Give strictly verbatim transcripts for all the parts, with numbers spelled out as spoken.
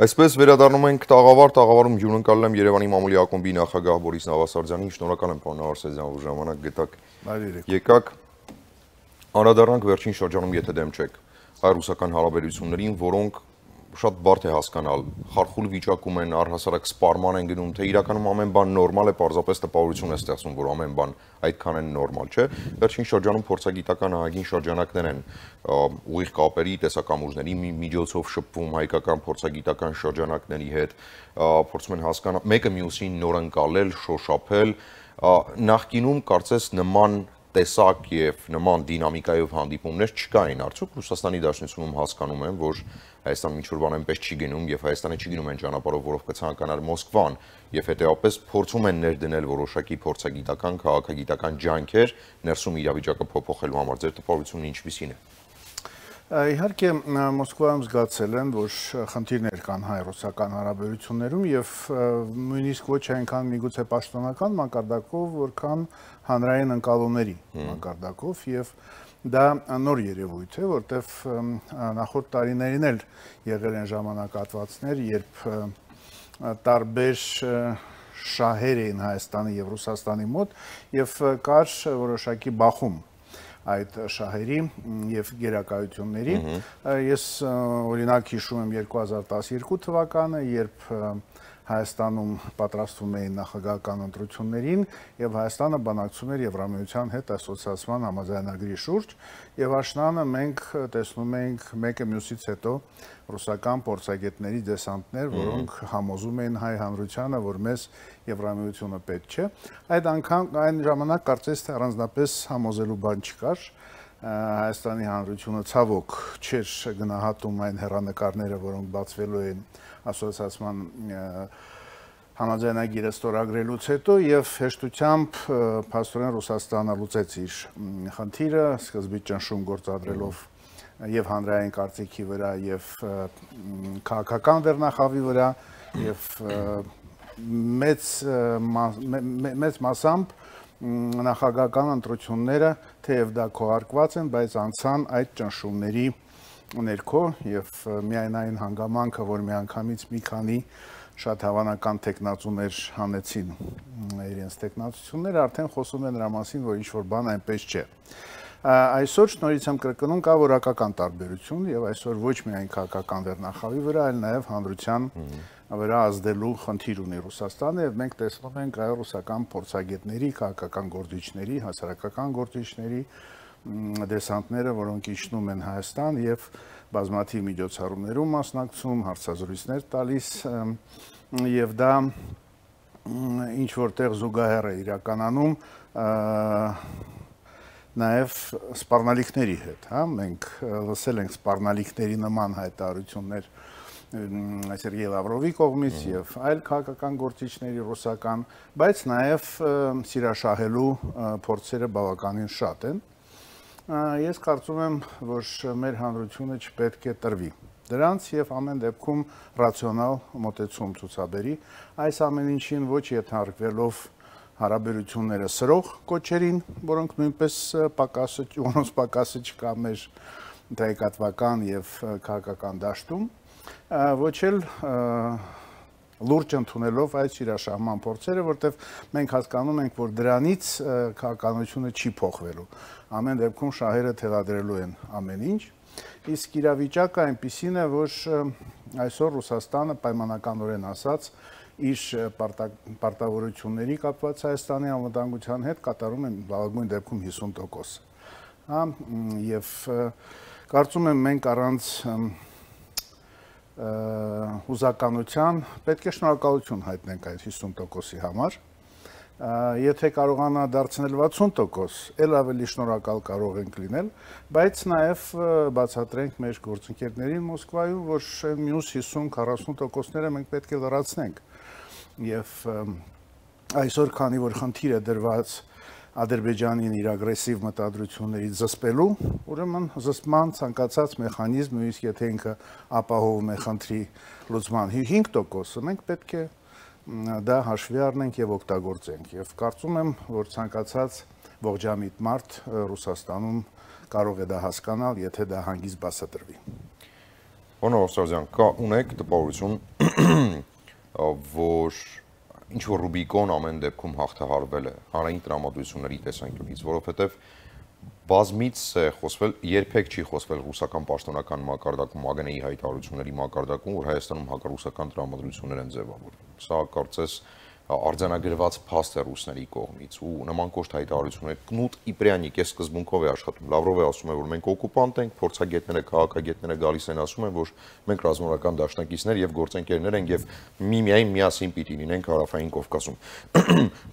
Այսպես վերադառնում ենք տաղավար, տաղավարում հյուրընկալել եմ Երևանի մամուլի ակումբի նախագահ Բորիս Նավասարդյանին, շնորհակալ եմ պարոն Նավասարդյան, որ ժամանակ գտաք։ Եկաք, անդրադառնանք վերջին շրջանում, եթե դեմ չեք, հայ-ռուսական հարաբերություններին, որոնք շատ բարդ է հասկանալ, խարխուլ վիճակում են, առհասարակ սպառման են գնում, թե իրականում ամեն բան նորմալ է, պարզապես տպավորություն է ստեղծում, որ ամեն բան այդքան են նորմալ չէ։ Վերջին շրջանում փորձագիտական ահագին շրջանակներ են ուղիղ կապերի, տեսակամուրջների միջոցով շփվում հայկական փորձագիտական շրջանակների հետ, փորձում են հասկանալ, մեկը մյուսին նոր ընկալել, շոշափել, նախկինում կարծես նման տեսակ եւ նման դինամիկայով հանդիպումներ չկային, արդյոք Ռուսաստանի Դաշնությունում հասկանում են, որ Հայաստանը ինչ-որ բան այնպես չի գնում եւ Հայաստանը չի գնում այն ճանապարհով, որով կցանկանար Մոսկվան եւ հետեւաբար փորձում են ներդնել որոշակի փորձագիտական, քաղաքագիտական ջանքեր ներսում իրավիճակը փոփոխելու համար։ Ձեր տպավորությունն ինչպիսին է։ Իհարկե Մոսկվայում զգացել են, որ խնդիրներ կան հայ-ռուսական հարաբերություններում եւ նույնիսկ ոչ այնքան միգուցե պաշտոնական մակարդակով, որքան հանրային ընկալումների մակարդակով եւ դա նոր երևույթ է, որտեվ նախորդ տարիներին էլ եղել են ժամանակահատվածներ, երբ տարբեր շահեր էին Հայաստանի եւ Ռուսաստանի մոտ եւ կար որոշակի բախում այդ շահերի եւ գերակայությունների։ Ես օրինակ հիշում եմ երկու հազար տասներկու թվականը, երբ Հայաստանում պատրաստվում էին նախագահական ընտրություններին եւ Հայաստանը բանակցում էր Եվրամիության հետ ասոցիացիան համաձայնագրի շուրջ եւ աշնանը մենք տեսնում էինք մեկը մյուսից հետո ռուսական փորձագետների դեսանտներ, որոնք համոզում էին հայ հանրությանը, որ մեզ Եվրամիությունը պետք չէ։ Այդ անգամ այն ժամանակ կարծես թե առանձնապես համոզելու բան չկար։ Հայաստանի հանրությունը ցավոք չէր գնահատում այն հեռանկարները, որոնք բացվելու են ասոցիացիան համաձայնագիրը ստորագրելուց հետո եւ հեշտությամբ փաստորեն Ռուսաստանը լուծեց իր խնդիրը, սկզբից ճնշում գործադրելով եւ հանրային կարծիքի վրա եւ քաղաքական վերնախավի վրա եւ մեծ մեծ մասամբ նախագահական ընտրությունները թեև դա քողարկված են, բայց անցան այդ ճնշումների ներքո եւ միայն այն հանգամանքը, որ միանգամից մի քանի շատ հավանական տեխնացուներ հանեցին իրենց տեխնացությունները, արդեն խոսում են նրա մասին, որ ինչ-որ բան այնպես չէ։ Այսօր շնորհիվ եմ կրկնում կա որակական տարբերություն եւ այսօր ոչ միայն քաղաքական վերնախավի վրա, այլ նաեւ հանրության վրա ազդելու խնդիր ունի Ռուսաստանը եւ մենք տեսնում ենք այո ռուսական փորձագետների, քաղաքական գործիչների, հասարակական գործիչների դեսանտները, որոնք իջնում են Հայաստան եւ բազմաթիվ միջոցառումներում մասնակցում, հարցազրույցներ տալիս եւ դա ինչ որտեղ զուգահեռ է իրականանում նաեւ սպառնալիքների հետ, հա, մենք լսել ենք սպառնալիքների նման հայտարարություններ Սերգեյ Լավրովի կողմից եւ այլ քաղաքական գործիչների ռուսական, բայց նաեւ սիրաշահելու փորձերը բավականին շատ են։ Ես կարծում եմ, որ մեր հանրությունը չպետք է տրվի դրանց եւ ամեն դեպքում ռացիոնալ մոտեցում ցուցաբերի, այս ամեն ինչին ոչ ենթարկվելով հարաբերությունները սրող կոչերին, որոնք նույնպես պակասը, որոնց պակասը չկա մեր տեղեկատվական եւ քաղաքական դաշտում, ոչ էլ լուրջ ընդունելով այս իրաշահման փորձերը, որտեղ մենք հասկանում ենք, որ դրանից քաղաքականությունը չի փոխվելու։ Ամեն դեպքում շահերը թելադրելու են ամեն ինչ, իսկ իրավիճակը այնպիսին է, որ այսօր Ռուսաստանը պայմանականորեն ասած իր պարտավորությունների կապված Հայաստանի անվտանգության հետ կատարում են լավագույն դեպքում հիսուն տոկոս։ Հա, եւ կարծում եմ մենք առանց հուզականության պետք է շնորհակալություն հայտնենք այդ հիսուն տոկոսի համար։ Եթե կարողանա դարձնել վաթսուն տոկոս, ել ավելի շնորհակալ կարող ենք լինել, բայց նաև բացատրենք մեր գործընկերներին Մոսկվայում, որ մյուս հիսուն քառասուն տոկոսները մենք պետք է լրացնենք։ Եվ այսօր, քանի որ խնդիր է դրված Ադրբեջանին իր ագրեսիվ մտադրություններից զսպելու, ուրեմն զսպման ցանկացած մեխանիզմ, նույնիսկ եթե ինքը ապահովում է խնդրի լուծման հինգ տոկոսը, մենք պետք է դա հաշվի առնենք եւ օգտագործենք։ Եվ կարծում եմ, որ ցանկացած ողջամիտ մարդ Ռուսաստանում կարող է դա հասկանալ, եթե դա հանգիստ բացատրվի։ Պարոն Ավասարյան, կա ունեք տպավորություն, որ ինչ որ Ռուբիկոն ամեն դեպքում հաղթահարվել է հանրային տրամադրությունների տեսանկյունից, որովհետև բազմից է խոսվել, երբեք չի խոսվել ռուսական պաշտոնական մակարդակում, ԱԳՆ-ի հայտարարությունների մակարդակում, որ Հայաստանում հակառուսական տրամադրություններ են ձևավորվում։ Սա կարծես արձանագրված փաստ է ռուսների կողմից ու նման կոշտ հայտարարություններ Կնուտ Իպրյանիկ է սկզբունքով է աշխատում։ Լավրովը ասում է, որ մենք օկուպանտ ենք, փորձագետները, քաղաքագետները գալիս են ասում են, որ մենք ռազմավարական դաշնակիցներ եւ գործընկերներ ենք եւ միմիայն միասին պիտի լինենք Հարավային Կովկասում։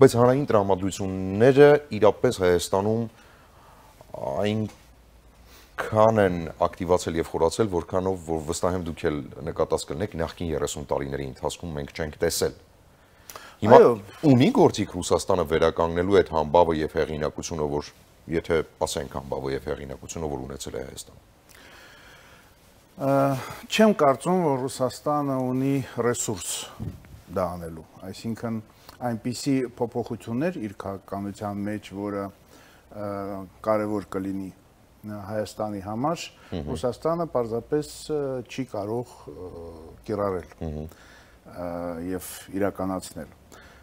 Բայց հանրային տրամադրությունները իրապես Հայաստանում այնքան են ակտիվացել եւ խորացել, որքանով որ վստահ եմ դուք էլ նկատած կլինեք նախկին երեսուն տարիների ընթացքում մենք չենք տեսել։ Հիմա ունի գործիք Ռուսաստանը վերականգնելու այդ համբավը եւ հեղինակությունը, որ եթե ասենք համբավը եւ հեղինակությունը, որ ունեցել է Հայաստանը։ Չեմ կարծում, որ Ռուսաստանը ունի ռեսուրս դա անելու, այսինքն այնպիսի փոփոխություններ իր քաղաքականության մեջ, որը կարևոր կլինի Հայաստանի համար, Ռուսաստանը պարզապես չի կարող կիրառել եւ իրականացնել։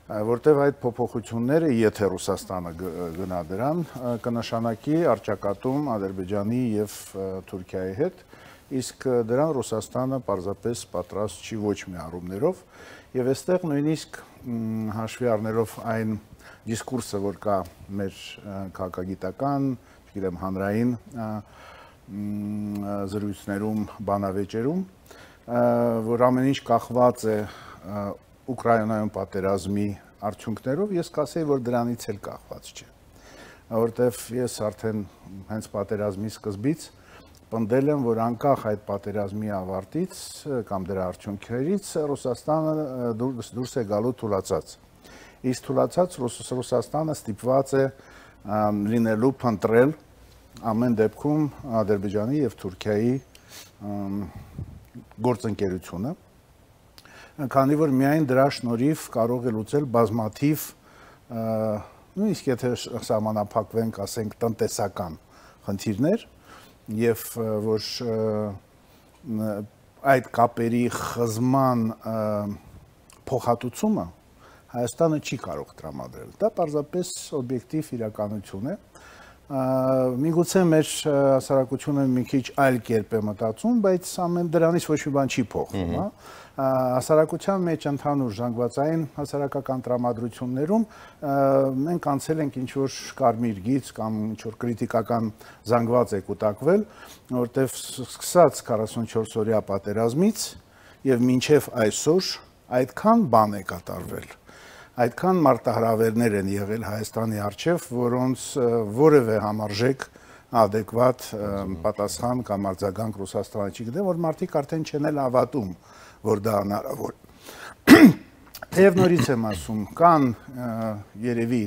Որտեւ այդ փոփոխությունները, եթե Ռուսաստանը գնա դրան, կնշանակի առճակատում Ադրբեջանի եւ Թուրքիայի հետ, իսկ դրան Ռուսաստանը պարզապես պատրաստ չի ոչ մի առումներով, եւ այստեղ նույնիսկ հաշվի առնելով այն դիսկուրսը, որ կա մեր քաղաքագիտական, չգիտեմ, հանրային զրույցներում, բանավեճերում, որ ամեն ինչ կախված է Ուկրաինայում պատերազմի արդյունքներով, ես կասեի, որ դրանից էլ կախված չէ, որտեվ ես արդեն հենց պատերազմի սկզբից պնդել եմ, որ անկախ այդ պատերազմի ավարտից կամ դրա արդյունքներից Ռուսաստանը դուրս է գալու թուլացած։ Իսկ թուլացած Ռուսաստանը ստիպված է լինելու փնտրել ամեն դեպքում Ադրբեջանի եւ Թուրքիայի գործընկերությունը, քանի որ միայն դրա շնորհիվ կարող է լուծել բազմաթիվ, նույնիսկ եթե սահմանափակվենք, ասենք, տնտեսական խնդիրներ, եւ որ այդ կապերի խզման փոխհատուցումը Հայաստանը չի կարող տրամադրել։ Դա պարզապես օբյեկտիվ իրականություն է։ Միգուցե մեր հասարակությունը մի քիչ այլ կերպ է մտածում, բայց ամեն դրանից ոչ մի բան չի փոխվում, հա։ Հասարակության մեջ ընդհանուր զանգվածային հասարակական տրամադրություններում մենք անցել ենք ինչ-որ կարմիր գիծ կամ ինչ-որ կրիտիկական զանգված է կուտակվել, որտեղ սկսած քառասունչորս օրյա պատերազմից եւ մինչեւ այսօր այդքան բան է կատարվել, այդքան մարտահրավերներ են եղել Հայաստանի առջև, որոնց որևէ համարժեք adekvat պատասխան կամ արձագանք Ռուսաստանը չի գտել, որ մարդիկ արդեն չեն էլ հավատում, որ դա հնարավոր։ Թեև նորից եմ ասում, կան երևի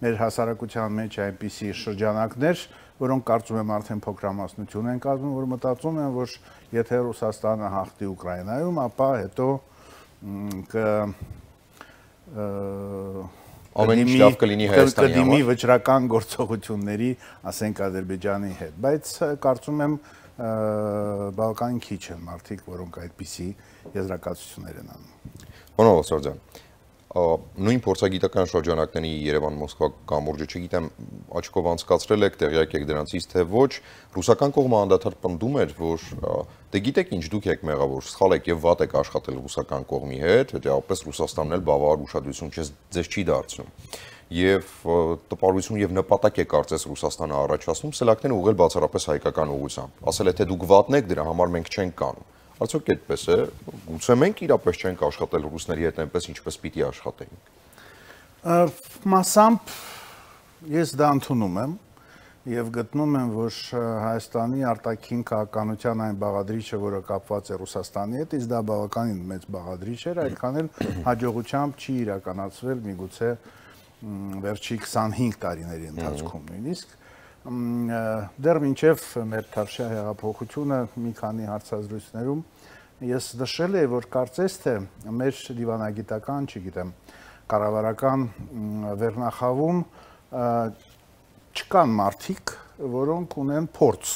մեր հասարակության մեջ այնպիսի շրջանակներ, որոնք կարծում եմ արդեն փոքրամասնություն են կազմում, որ մտածում են, որ եթե Ռուսաստանը հաղթի Ուկրաինայում, ապա հետո կ ամեն ինչ լավ կլինի Հայաստանի համար, կդիմի վճռական գործողությունների, ասենք, Ադրբեջանի հետ, բայց կարծում եմ բավականին քիչ են մարդիկ, որոնք այդպիսի եզրակացություններ են անում։ Պարոն Ավասարյան, նույն փորձագիտական շրջանակների Երևան-Մոսկվա կամուրջը, չգիտեմ, աչքով անցկացրել եք, տեղյակ եք դրանցից, թե ոչ, ռուսական կողմը անդադար պնդում էր, որ դե գիտեք ինչ, դուք եք մեղավոր, սխալ եք եւ վատ եք աշխատել ռուսական կողմի հետ, հետեւաբար Ռուսաստանն էլ բավարար ուշադրություն ձեզ չի դարձնում։ Եվ տպարություն եւ նպատակ է կարծես Ռուսաստանը առաջացնում սելակները ուղղել բացառապես հայկական ուղղությամբ։ Ասել է թե դուք վատն եք, դրա համար մենք չենք կանում։ Արդյոք այդպես է, գուցե մենք իրապես չենք աշխատել ռուսների հետ այնպես, ինչպես պիտի աշխատեինք։ Մասամբ ես դա ընդունում եմ եւ գտնում եմ, որ Հայաստանի արտաքին քաղաքականության այն բաղադրիչը, որը կապված է Ռուսաստանի հետ, իսկ դա բավականին մեծ բաղադրիչ էր, այդքան էլ հաջողությամբ չի իրականացվել միգուցե վերջի քսանհինգ տարիների ընթացքում նույնիսկ դեռ մինչև մեր Թավշյա հեղափոխությունը մի քանի հարցազրույցներում ես նշել եմ, որ կարծես թե մեր դիվանագիտական, չգիտեմ, կառավարական վերնախավում չկան մարդիկ, որոնք ունեն փորձ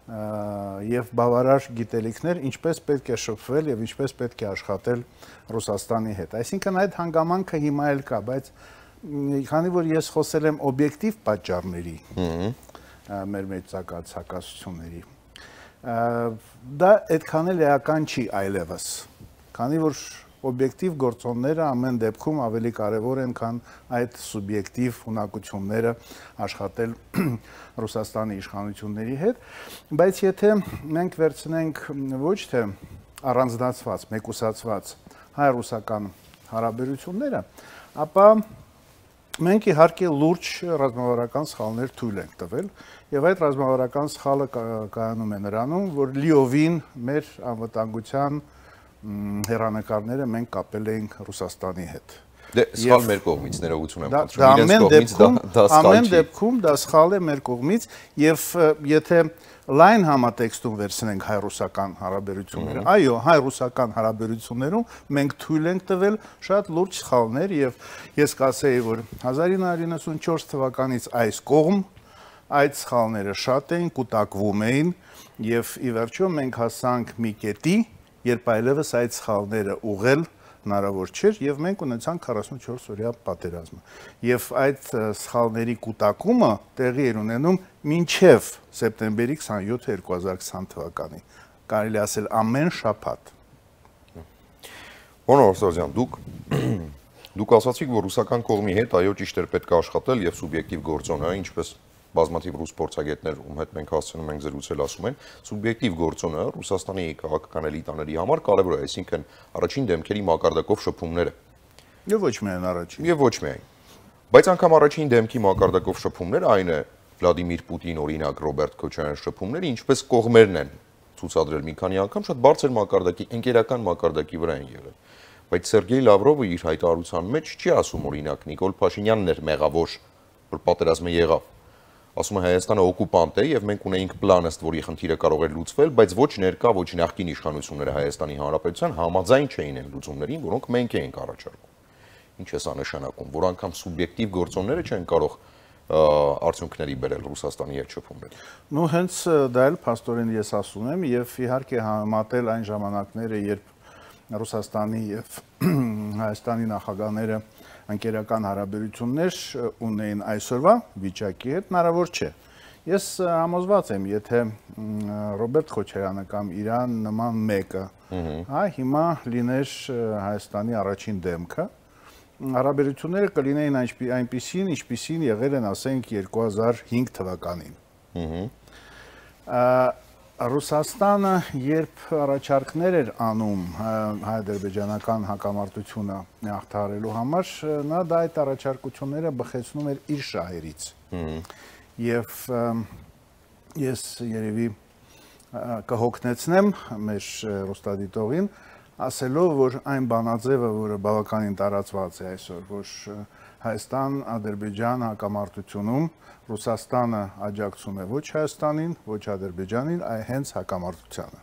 եւ բավարար գիտելիքներ, ինչպես պետք է շփվել եւ ինչպես պետք է աշխատել Ռուսաստանի հետ։ Այսինքն այդ հանգամանքը հիմա էլ կա, բայց քանի որ ես խոսել եմ օբյեկտիվ պատճառների, մեր մեծակած հակասությունների, դա այդքան էլ էական չի այլևս, քանի որ օբյեկտիվ գործոնները ամեն դեպքում ավելի կարևոր են, քան այդ սուբյեկտիվ ունակությունները աշխատել Ռուսաստանի իշխանությունների հետ, բայց եթե մենք վերցնենք ոչ թե առանձնացված, մեկուսացված հայ-ռուսական հարաբերությունները, ապա մենք իհարկե լուրջ ռազմավարական սխալներ թույլ ենք տվել, եւ այդ ռազմավարական սխալը կայանում է նրանում, որ լիովին մեր անվտանգության հերանեկարները մենք կապել էինք Ռուսաստանի հետ։ Դե սխալ մեր կողմից ներողություն եմ խնդրում։ Ամեն դեպքում, ամեն դեպքում դա սխալ է մեր կողմից եւ եթե լայն համատեքստում վերցնենք հայ-ռուսական հարաբերությունները, այո, հայ-ռուսական հարաբերություններում մենք թույլ ենք տվել շատ լուրջ սխալներ եւ ես կասեի, որ հազար ինը հարյուր իննսունչորս թվականից այս կողմ այդ սխալները շատ էին, կուտակվում էին եւ ի վերջո մենք հասանք մի կետի, երբ այլևս այդ սխալները ուղղել հնարավոր չէր եւ մենք ունեցանք քառասունչորս օրյա պատերազմը եւ այդ սխալների կուտակումը տեղի էր ունենում մինչեւ սեպտեմբերի քսանյոթը երկու հազար քսան թվականի, կարելի ասել ամեն շաբաթ։ Պարոն Արսազյան, դուք դուք ասացիք, որ ռուսական կողմի հետ այո ճիշտ էր պետք է աշխատել եւ սուբյեկտիվ գործոն է, ինչպես բազմաթիվ ռուս փորձագետներ, ում հետ մենք հասցնում ենք զրուցել, ասում են, սուբյեկտիվ գործոնը Ռուսաստանի քաղաքական էլիտաների համար կարևոր է, այսինքն առաջին դեմքերի մակարդակով շփումները։ Եվ ոչ միայն առաջին։ Եվ ոչ միայն։ Բայց անգամ առաջին դեմքի մակարդակով շփումները, այն է Վլադիմիր Պուտին, օրինակ Ռոբերտ Քոչարյան շփումները, ինչպես կողմերն են ցուցադրել մի քանի անգամ, շատ բարձր մակարդակի, ընկերական մակարդակի վրա են եղել։ Բայց Սերգեյ Լավրովը իր հայտարարության մեջ չի ասում, օրինակ Նիկոլ Փաշինյանն էր մեղավոր, որ պատերազմը եղավ։ Ասում է Հայաստանը օկուպանտ է եւ մենք ունեինք պլան ըստ որի խնդիրը կարող էր լուծվել, բայց ոչ ներկա, ոչ նախկին իշխանությունները Հայաստանի Հանրապետության համաձայն չէին այն լուծումներին, որոնք մենք էինք առաջարկում։ Ինչ է սա նշանակում, որ անգամ սուբյեկտիվ գործոնները չեն կարող արդյունքների բերել Ռուսաստանի հետ շփումներ։ Ну հենց դա էլ փաստորեն ես ասում եմ եւ իհարկե համատել այն ժամանակները, երբ Ռուսաստանի եւ Հայաստանի նախագահները ընկերական հարաբերություններ ունեին այսօրվա վիճակի հետ, հնարավոր չէ։ Ես համոզված եմ, եթե Ռոբերտ Քոչարյանը կամ իրան նման մեկը, հա, հիմա լիներ Հայաստանի առաջին դեմքը, հարաբերությունները կլինեին այնպիսին, ինչպիսին եղել են, ասենք, երկու հազար հինգ թվականին։ Ռուսաստանը, երբ առաջարկներ էր անում հայ-ադրբեջանական հակամարտությունը հաղթահարելու համար, նա դա այդ առաջարկությունները բխեցնում էր իր շահերից։ Եվ ես երևի կհոգնեցնեմ մեր ռուստադիտողին, ասելով, որ այն բանաձևը, որը բավականին տարածված է այսօր, որ Հայաստան-Ադրբեջան հակամարտությունում Ռուսաստանը աջակցում է ոչ Հայաստանին, ոչ Ադրբեջանին, այլ հենց հակամարտությանը։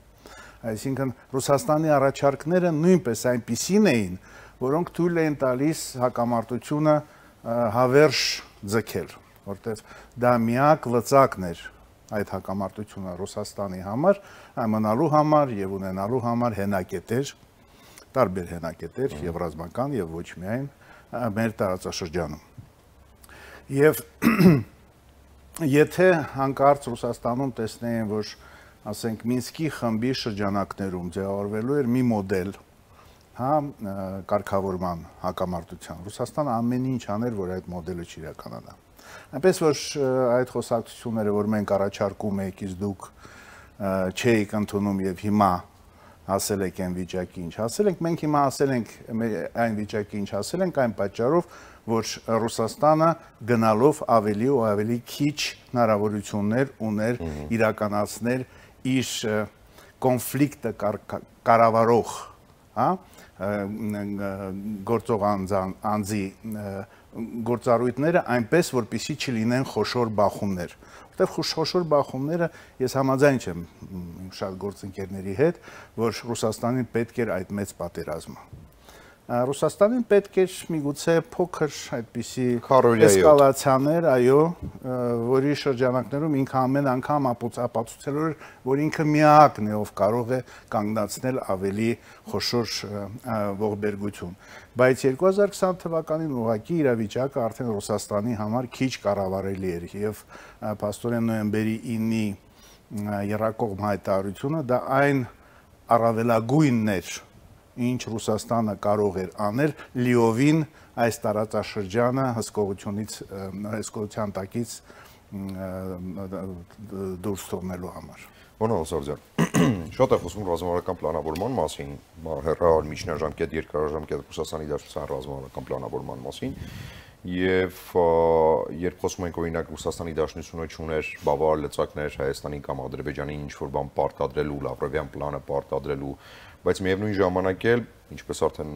Այսինքն Ռուսաստանի առաջարկները նույնպես այնպիսին էին, որոնք թույլ էին տալիս հակամարտությունը հավերժ ձգել, որտեղ դա միակ լծակն էր այդ հակամարտությունը Ռուսաստանի համար, մնալու համար եւ ունենալու համար հենակետեր, տարբեր հենակետեր, եւ ռազմական, եւ ոչ միայն մեր տարածաշրջանում։ Եվ եթե հանկարծ Ռուսաստանում տեսնեին, որ ասենք Մինսկի խմբի շրջանակներում ձևավորվելու էր մի մոդել, հա, կարգավորման հակամարտության, Ռուսաստանը ամեն ինչ աներ, որ այդ մոդելը չիրականանա։ Այնպես որ այդ խոսակցությունները, որ մենք առաջարկում ենք, իսկ դուք չէիք ընդունում եւ հիմա հասել եք այն վիճակի, ինչ հասել ենք, մենք հիմա հասել ենք այն վիճակի, ինչ հասել ենք, այն պատճառով, որ Ռուսաստանը գնալով ավելի ու ավելի քիչ հնարավորություններ ուներ իրականացնել իր կոնֆլիկտը կառավարող, հա, գործող անձի գործառույթները այնպես, որպեսզի չլինեն խոշոր բախումներ։ Որտեղ խոշոր բախումները ես համաձայն չեմ շատ գործընկերների հետ, որ Ռուսաստանին պետք էր այդ մեծ պատերազմը։ Ռուսաստանին պետք էր միգուցե փոքր այդպիսի էսկալացիաներ, այո, որի շրջանակներում ինքը ամեն անգամ ապացուցել էր, որ ինքը միակն է, ով կարող է կանգնացնել ավելի խոշոր ողբերգություն։ Բայց երկու հազար քսան թվականին ուղղակի իրավիճակը արդեն Ռուսաստանի համար քիչ կառավարելի էր եւ փաստորեն նոյեմբերի ինի եռակողմ հայտարարությունը դա այն առավելագույնն էր, ինչ Ռուսաստանը կարող էր անել լիովին այս տարածաշրջանը հսկողությունից հսկողության տակից դուրս թողնելու համար։ Պարոն Սարդյան, շատ է խոսում ռազմավարական պլանավորման մասին, հեռահար միջնաժամկետ, երկարաժամկետ Ռուսաստանի Դաշնության ռազմավարական պլանավորման մասին, եւ երբ խոսում ենք օրինակ Ռուսաստանի Դաշնությունը չուներ բավարար լծակներ Հայաստանի կամ Ադրբեջանի ինչ-որ բան պարտադրելու, Լավրովյան պլանը պարտադրելու, բայց միևնույն ժամանակ էլ, ինչպես արդեն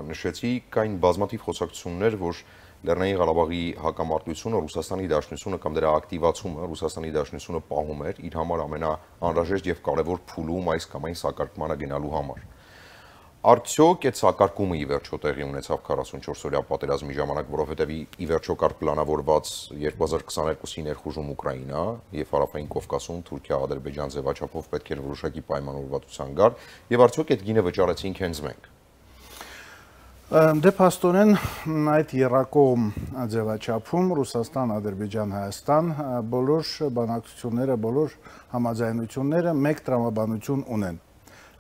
նշեցի, կային բազմաթիվ խոսակցություններ, որ Լեռնային Ղարաբաղի հակամարտությունը Ռուսաստանի Դաշնությունը կամ դրա ակտիվացումը Ռուսաստանի Դաշնությունը պահում էր իր համար ամենաանհրաժեշտ եւ կարեւոր փուլում այս կամ այն սակարկմանը գնալու համար։ Արդյոք այդ սակարկումը ի վերջո տեղի ունեցավ քառասունչորս-օրյա պատերազմի ժամանակ, որովհետև ի վերջո կար պլանավորված երկու հազար քսաներկուսի ներխուժում Ուկրաինա եւ Հարավային Կովկասում Թուրքիա-Ադրբեջան ձևաչափով պետք էր որոշակի պայմանավորվածության գար, եւ արդյոք այդ գինը վճարեցինք հենց մենք։ Դե փաստորեն այդ եռակողմ ձևաչափում Ռուսաստան, Ադրբեջան, Հայաստան բոլոր բանակցությունները, բոլոր համաձայնությունները մեկ տրամաբանություն ունեն։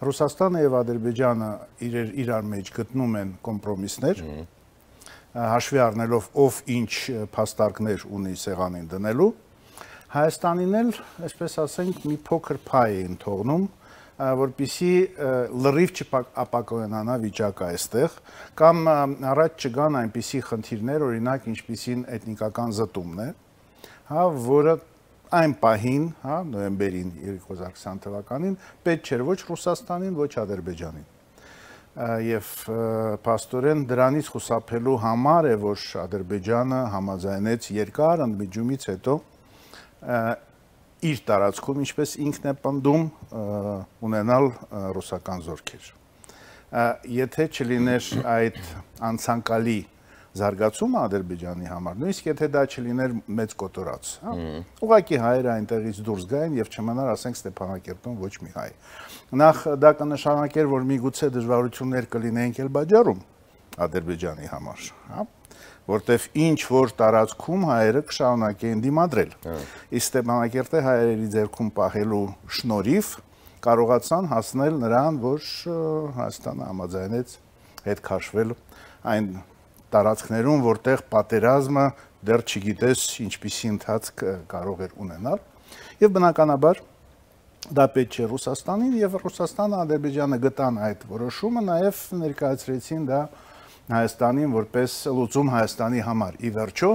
Ռուսաստանը եւ Ադրբեջանը իրար իրար մեջ գտնում են կոմպրոմիսներ, հաշվի առնելով ով ինչ փաստարկներ ունի սեղանին դնելու։ Հայաստանին էլ, այսպես ասենք, մի փոքր փայ են թողնում, որպեսզի լրիվ չապակոյանա վիճակը այստեղ, կամ առաջ չգան այնպիսի խնդիրներ, օրինակ ինչպիսին էթնիկական զտումն է, հա, որը այն պահին, հա, նոյեմբերին երկու հազար քսան թվականին պետք չէր ոչ Ռուսաստանին, ոչ Ադրբեջանին։ Եվ փաստորեն դրանից խուսափելու համար է, որ Ադրբեջանը համաձայնեց երկար ընդմիջումից հետո իր տարածքում, ինչպես ինքն է պնդում, ունենալ ռուսական զորքեր։ Եթե չլիներ այդ անցանկալի զարգացումը Ադրբեջանի համար, նույնիսկ եթե դա չլիներ մեծ կոտորած, հա, ուղղակի հայերը այնտեղից դուրս գային եւ չմնար, ասենք, Ստեփանակերտում ոչ մի հայ։ Նախ դա կնշանակեր, որ միգուցե դժվարություններ կլինեին Ղարաբաղում Ադրբեջանի համար, հա, որտեվ ինչ որ տարածքում հայերը կշարունակեին դիմադրել։ Իսկ Ստեփանակերտը հայերի ձեռքում պահելու շնորհիվ կարողացան հասնել նրան, որ Հայաստանը համաձայնեց հետ քաշվել այն տարածքներում, որտեղ պատերազմը դեռ չգիտես ինչպիսի ընթացք կարող էր ունենալ, եւ բնականաբար դա պետք չէ Ռուսաստանին, եւ Ռուսաստանը, Ադրբեջանը գտան այդ որոշումը, նաեւ ներկայացրեցին դա Հայաստանին որպես լուծում Հայաստանի համար։ Ի վերջո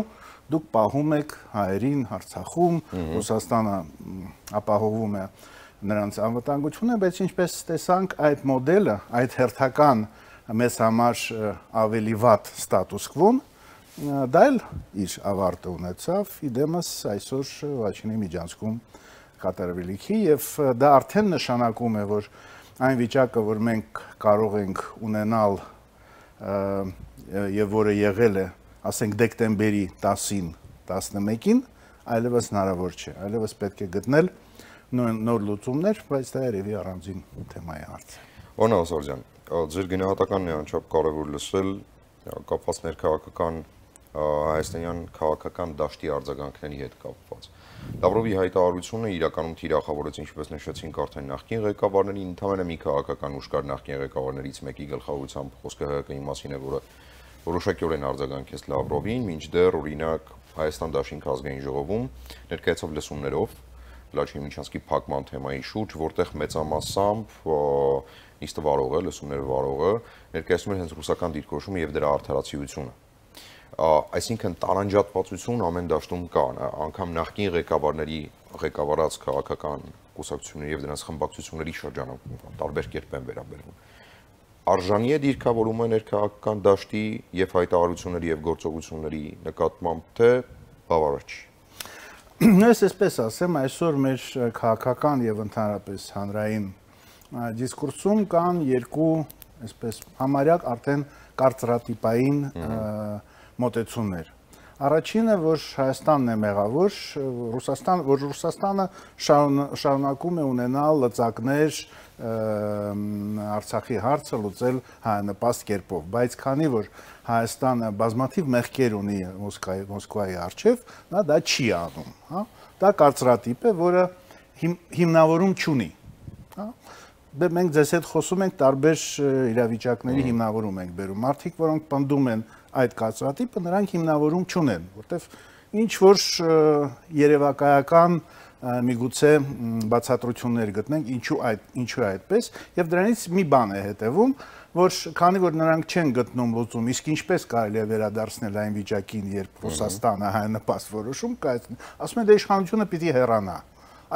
դուք պահում եք հայերին Արցախում, Ռուսաստանը ապահովում է նրանց անվտանգությունը, բայց ինչպես տեսանք, այդ մոդելը, այդ հերթական մեզ համար ավելի վատ ստատուս կվոն, դա էլ իր ավարտը ունեցավ, իդեմս այսօր Լաչինի միջանցքում կատարվելիքի, եւ դա արդեն նշանակում է, որ այն վիճակը, որ մենք կարող ենք ունենալ եւ որը եղել է, ասենք դեկտեմբերի տասին, տասնմեկին, այլևս հնարավոր չէ, այլևս պետք է գտնել նոր լուծումներ, բայց դա երևի առանձին թեմայի հարց է։ Պարոն Սարդյան, ձեր գնահատականն է անչափ կարևոր լսել կապված ներքաղաքական հայաստանյան քաղաքական դաշտի արձագանքների հետ կապված։ Լավրովի հայտարարությունը իրականում թիրախավորեց, ինչպես նշեցինք, արդեն նախկին ղեկավարների, ընդհանրապես մի քաղաքական ուժ կար նախկին ղեկավարներից մեկի գլխավորությամբ խոսքը ՀՀԿ-ի մասին է, որը որոշակիորեն արձագանքեց Լավրովին, մինչդեռ օրինակ Հայաստան Դաշինք ազգային ժողովում ներկայացավ լսումներով Լաչինի Միջանցքի փակման թեմայի շուրջ, որտեղ մեծամասամբ նիստը վարողը, լսումները վարողը ներկայացնում էր հենց ռուսական դիրքորոշումը եւ դրա արդարացիությունը։ Այսինքն տարանջատվածություն ամեն դաշտում կա, անգամ նախկին ղեկավարների ղեկավարած քաղաքական կուսակցությունների եւ դրանց խմբակցությունների շրջանում տարբեր կերպ են վերաբերվում։ Արժանի է դիրքավորումը ներքաղաքական դաշտի եւ հայտարարությունների եւ գործողությունների նկատմամբ, թե բավարար չի։ Ես այսպես ասեմ, այսօր մեր քաղաքական եւ ընդհանրապես հանրային դիսկուրսում կան երկու, այսպես համարյա արդեն կարծրատիպային մոտեցումներ։ Առաջինը, որ Հայաստանն է մեղավոր, Ռուսաստան, որ Ռուսաստանը շարունակում է ունենալ լծակներ Արցախի հարցը լուծել հայանպաստ կերպով, բայց քանի որ Հայաստանը բազմաթիվ մեղքեր ունի Մոսկվայի առջև, նա դա չի անում, հա։ Դա կարծրատիպ է, որը հիմնավորում չունի, հա։ Դե մենք ձեզ հետ խոսում ենք տարբեր իրավիճակների հիմնավորում ենք բերում։ Մարդիկ, որոնք պնդում են այդ կարծրատիպը, նրանք հիմնավորում չունեն, որտեվ ինչ որ երևակայական միգուցե բացատրություններ գտնենք, ինչու այդ ինչու է այդպես, եւ դրանից մի բան է հետեւում, որ քանի որ նրանք չեն գտնում լուծում, իսկ ինչպես կարելի է վերադարձնել այն վիճակին, երբ Ռուսաստանը հայանպաստ որոշում կայացնի, ասում են դե իշխանությունը պիտի հեռանա։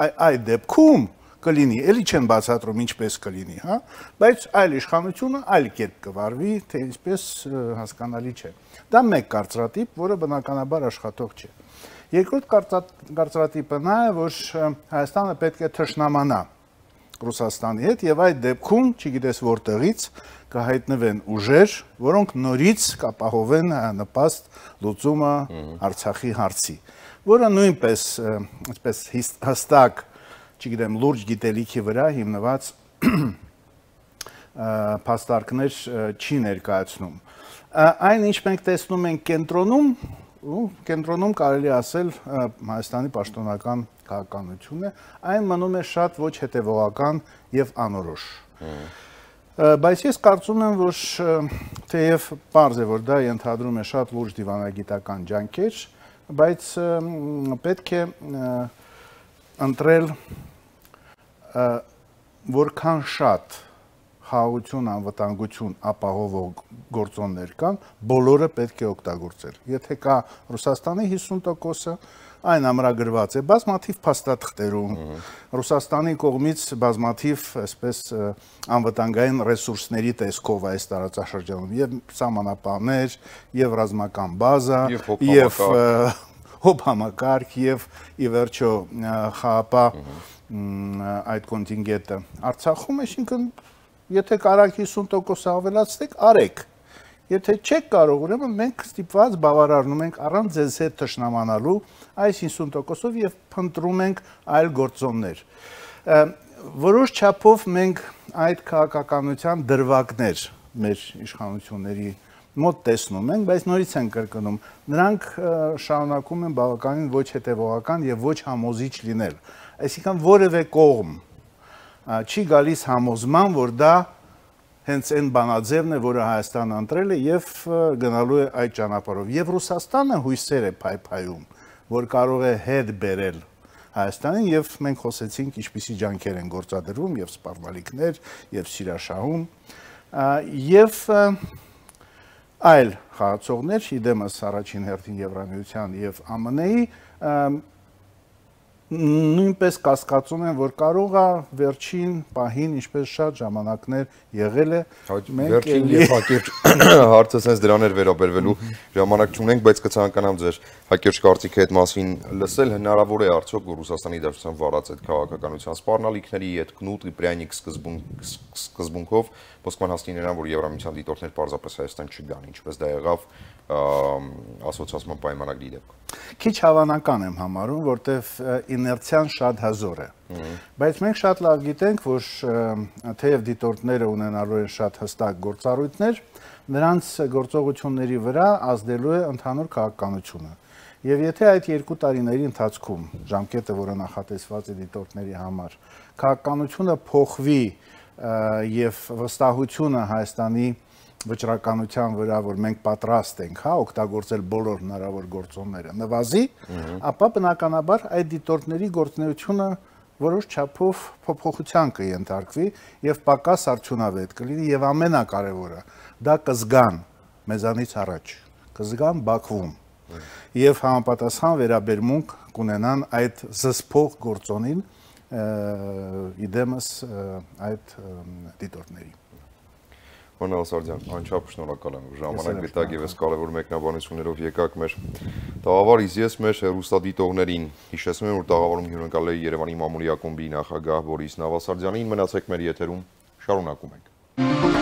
Այդ դեպքում կլինի, էլի չեն բացատրում ինչպես կլինի, հա, բայց այլ իշխանությունը այլ կերպ կվարվի, թե ինչպես հասկանալի չէ։ Դա մեկ կարծրատիպ, որը բնականաբար աշխատող չէ։ Երկրորդ կարծրատիպը նա է, որ Հայաստանը պետք է թշնամանա Ռուսաստանի հետ եւ այդ դեպքում, չգիտես որտեղից, կհայտնվեն ուժեր, որոնք նորից կապահովեն նպաստ լուծումը Արցախի հարցի, որը նույնպես այսպես հստակ, չգիտեմ, լուրջ գիտելիքի վրա հիմնված փաստարկներ չի ներկայացնում։ Այն ինչ մենք տեսնում ենք կենտրոնում, կենտրոնում կարելի ասել Հայաստանի պաշտոնական քաղաքականություն է, այն մնում է շատ ոչ հետևողական եւ անորոշ։ Բայց ես կարծում եմ, որ թեև պարզ է, որ դա ենթադրում է շատ լուրջ դիվանագիտական ջանքեր, բայց պետք է ընտրել որքան շատ խաղաղություն, անվտանգություն ապահովող գործոններ կան, բոլորը պետք է օգտագործել։ Եթե կա Ռուսաստանի հիսուն տոկոսը, այն ամրագրված է բազմաթիվ փաստաթղթերում, Ռուսաստանի կողմից բազմաթիվ այսպես անվտանգային ռեսուրսների տեսքով այս տարածաշրջանում եւ սահմանապահներ, եւ ռազմական բազա, եւ հոբ համակարգ եւ ի վերջո խաղապահ այդ կոնտինգենտը Արցախում, այսինքն եթե կարաք հիսուն տոկոս ավելացնեք, արեք։ Եթե չեք կարող, ուրեմն մենք ստիպված բավարարնում ենք առանց ձեզ հետ թշնամանալու այս հիսուն տոկոսով եւ փնտրում ենք այլ գործոններ։ Որոշ չափով մենք այդ քաղաքականության դրվագներ մեր իշխանությունների մոտ տեսնում ենք, բայց նորից են կրկնում, նրանք շարունակում են բավականին ոչ հետևողական եւ ոչ համոզիչ լինել։ Այսինքն որևէ կողմ չի գալիս համոզման, որ դա հենց այն բանաձևն է, որը Հայաստանը ընտրել է եւ գնալու է այդ ճանապարհով։ Եվ Ռուսաստանը հույսեր է փայփայում, որ կարող է հետ բերել Հայաստանին եւ մենք խոսեցինք ինչպիսի ջանքեր են գործադրվում եւ սպառնալիքներ եւ սիրաշահում եւ այլ խաղացողներ, իդեմս առաջին հերթին Եվրամիության եւ ԱՄՆ-ի նույնպես կասկածում են, որ կարող է վերջին պահին, ինչպես շատ ժամանակներ եղել է, վերջին եւ հակիրճ հարցը sense դրան էր վերաբերվելու ժամանակ չունենք, բայց կցանկանամ ձեր հակիրճ կարծիքը այդ մասին լսել, հնարավոր է արդյոք որ Ռուսաստանի Դաշնության վարած այդ քաղաքականության սպառնալիքների այդ կնուտ Իպրյանիկ սկզբունքով Մոսկվան հասնի նրան, որ Եվրամիության դիտորդներ պարզապես Հայաստան չգան, ինչպես դա եղավ ասոցիացման պայմանագրի դեպքում։ Քիչ հավանական եմ համարում, որտեվ իներցիան շատ հազոր է։ Բայց մենք շատ լավ գիտենք, որ թեև դիտորդները ունենալու են շատ հստակ գործառույթներ, նրանց գործողությունների վրա ազդելու է ընդհանուր քաղաքականությունը։ Եվ եթե այդ երկու տարիների ընթացքում ժամկետը, որը նախատեսված է դիտորդների համար, քաղաքականությունը փոխվի եւ վստահությունը Հայաստանի վճռականության վրա, որ մենք պատրաստ ենք, հա, օգտագործել բոլոր հնարավոր գործոնները, նվազի, ապա բնականաբար այդ դիտորդների գործունեությունը որոշ չափով փոփոխության կընթարկվի եւ պակաս արդյունավետ կլինի եւ ամենակարևորը դա կզգան մեզանից առաջ, կզգան Բաքվում եւ համապատասխան վերաբերմունք կունենան այդ զսպող գործոնին իդեմս այդ դիտորդների։ Պարոն Սարդյան, անչափ շնորհակալ եմ, ժամանակ գտաք եւ այս կարևոր մեկնաբանություններով եկաք մեր տաղավարից։ Ես մեր հեռուստադիտողներին հիշեցնում եմ, որ տաղավարում հյուրընկալել է Երևանի մամուլի ակումբի նախագահ Բորիս Նավասարդյանին։ Մնացեք մեր եթերում, շարունակում ենք։